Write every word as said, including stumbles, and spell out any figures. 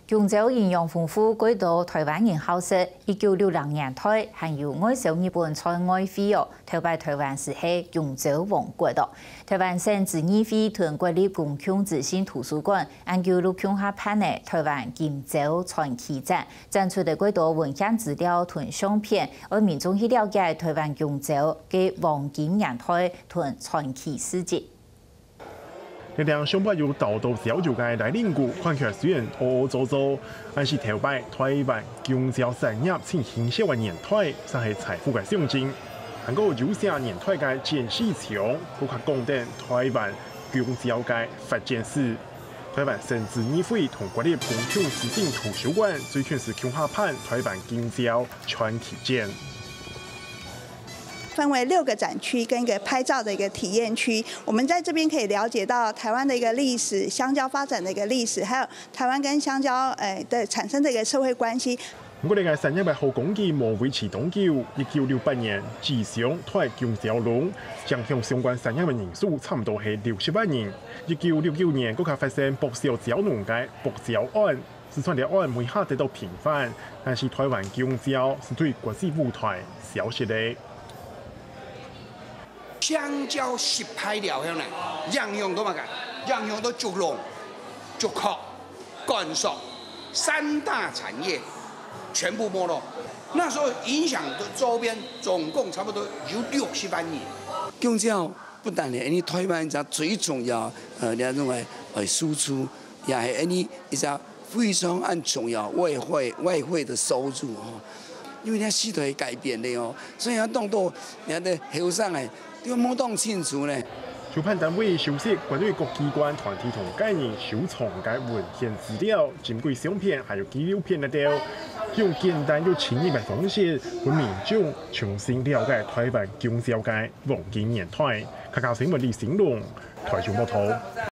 弓蕉營養豐富，蓋多臺灣人好食。一九六零年代，還有外銷日本菜外燴哦。頭擺臺灣斯係弓蕉王國哦。臺灣省自然會同國立公共資訊圖書館，恁久就共下辦了臺灣弓蕉傳奇展，展出个蓋多文獻資料同相片，愛民眾去了解臺灣弓蕉个黃金年代同傳奇事蹟。 這頂上背有倒到焦油个拉鍊牯，看起來雖然烏烏糟糟，但是頭擺臺灣弓蕉產業盡興盛个年代，正係財富个象徵。還過有寫年代个簡世松，更加講得臺灣弓蕉个發展史。臺灣省自然會同國立公共資訊圖書館最近斯共下辦臺灣弓蕉傳奇展。 分為六个展區跟一个拍照的一个體驗區。我們在這邊可以了解到臺灣的一个歷史、香蕉發展的一个歷史，還有臺灣跟香蕉，呃，的產生的一个社會關係。毋過，這个產業个好光景無維持當久。一九六八年，世松大弓蕉農，影響相關產業个人數差毋多係六十萬人。一九六九年，國家發生剝削蕉農个剝蕉案， 四川條案尾下得到平反，但是臺灣弓蕉斯對國際舞臺消失了。香蕉失敗了後呢，影響到麼个？影響到竹籠、竹殼、稈埽三大產業全部沒落。那時候影響的周邊總共差不多有六十萬人。弓蕉不但係恁呢臺灣一隻最重要，呃，這種个呃輸出，也係恁呢一隻 非常恁重要外匯外匯的收入吼，因為這時代改變了哦，所以啊當多人个後生个都無當清楚呢。主辦單位收集國內各機關團體同個人收藏个文獻資料，珍貴相片還有紀錄片等等，用簡單又親切个方式，分民眾重新了解臺灣弓蕉个黃金年代。客家新聞李成龍，臺中報導。